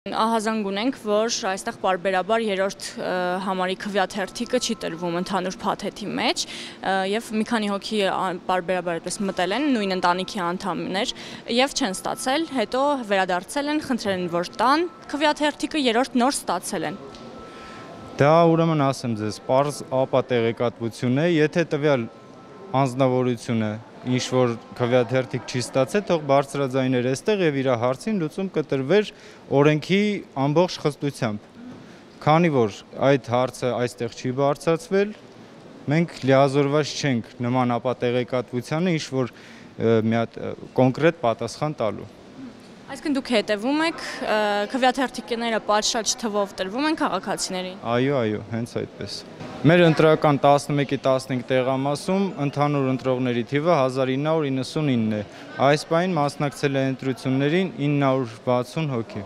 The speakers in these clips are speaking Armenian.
Ահազանգ ունենք, որ այստեղ պարբերաբար երրորդ համարի քվեաթերթիկը չի տրվում ընդհանուր փաթեթի մեջ եւ մի քանի հոգի պարբերաբար այդպես մտել են նույն ընտանիքի անդամներ եւ չեն ստացել, հետո վերադարձել են, խնդրել են որ տան քվեաթերթիկը երրորդ նոր ստացել են։ Դա ուրեմն ասեմ ձեզ, պարզ ապա տեղեկատվություն է, եթե տվյալ անձնավորությունը ինչ որ քվեաթերթիկ չի ստացել, թող բարձրաձայներ այստեղ եւ իր հարցին լուծում կտրվեր օրենքի ամբողջ խստությամբ։ Քանի որ այդ հարցը այստեղ չի բարձրացվել, մենք լիազորված չենք նման ապա տեղեկատվությանը ինչ որ մի հատ կոնկրետ պատասխան տալու։ Այսինքն դուք հետևում եք քվեաթերթիկները պատշաճ թվով տրվում են քաղաքացիներին։ Այո, հենց այդպես։ Մեր ընտրական 11-15 տեղամասում ընդհանուր ընտրողների թիվը 1999 է։ Այս պահին մասնակցել է ընտրություններին 960 հոգի։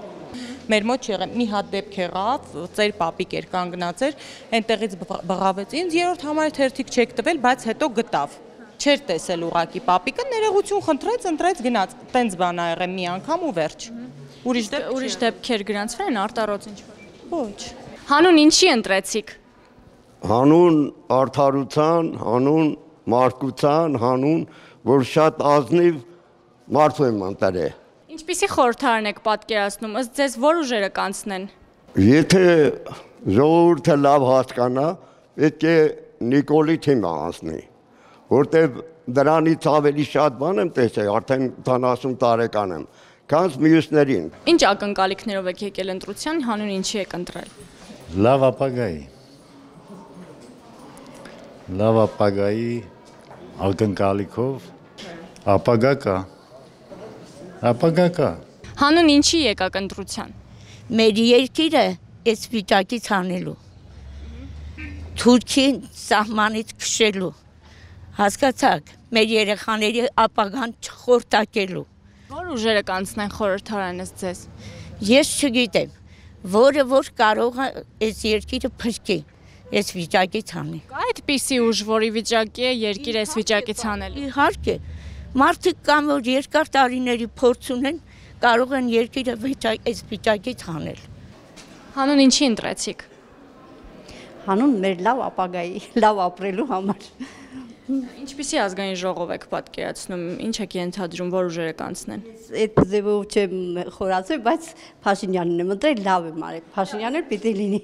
Մեր մոտ եղել մի հատ դեպք եղավ, ծեր պապիկ էր կանգնած էր, այնտեղից բղավեց ինձ երրորդ համարի թերթիկ չեք տվել, բայց հետո գտավ։ Չէր տեսել ուղակի պապիկը, ներողություն խնդրեց, ընտրեց, գնաց։ Տենց բան ա եղել մի անգամ ու վերջ։ Ուրիշ դեպքեր գրանցվել են արտարոց ինչ-որ։ Ոչ։ Հանուն ինչի ընտրեցիք։ Հանուն արդարության, հանուն մարգության, հանուն, որ շատ ազնիվ մարդու եմ ընտրել։ Ինչպիսի խորհրդարան եք պատկերացնում, ըստ ձեզ որ ուժերը կանցնեն։ Եթե ժողովուրդը լավ հասկանա, պետք է Նիկոլի թիմը անցնի, որտեղ դրանից ավելի շատ բան եմ տեսել, արդեն 70 տարեկան եմ, քան մյուսներին։ Ինչ ակնկալիքներով եք եկել ընտրության, հանուն ինչի եք ընտրել։ Լավ ապագայի ակնկալիքով ապագա կա։ Հանուն ինչի եկաք ընտրության։ Մեր երկիրը այս վիճակից հանելու, Թուրքին սահմանից քշելու, հասկացաք, մեր երեխաների ապագան չխորտակելու։ Որ ուժերը կանցնեն խորհրդարան ըստ ձեզ։ Ես չգիտեմ, որը որ կարող է այս երկիրը փրկի, այս վիճակից հանի։ Կա այդպիսի ուժ, որի վիճակի է երկիրը այս վիճակից հանել։ Իհարկե, մարդիկ կամ որ երկար տարիների փորձ ունեն, կարող են երկիրը այս վիճակից հանել։ Հանուն ինչի ընտրեցիք։ Հանուն մեր լավ ապագայի, լավ ապրելու համար։ Ինչպիսի ազգային ժողով եք պատկերացնում, ինչ եք ենթադրում, որ ուժերը կանցնեն։ Այդ ձևով չեմ խորացել, բայց Փաշինյանն եմ ընտրել, լավ եմ արել։ Փաշինյանն էլ պիտի լինի։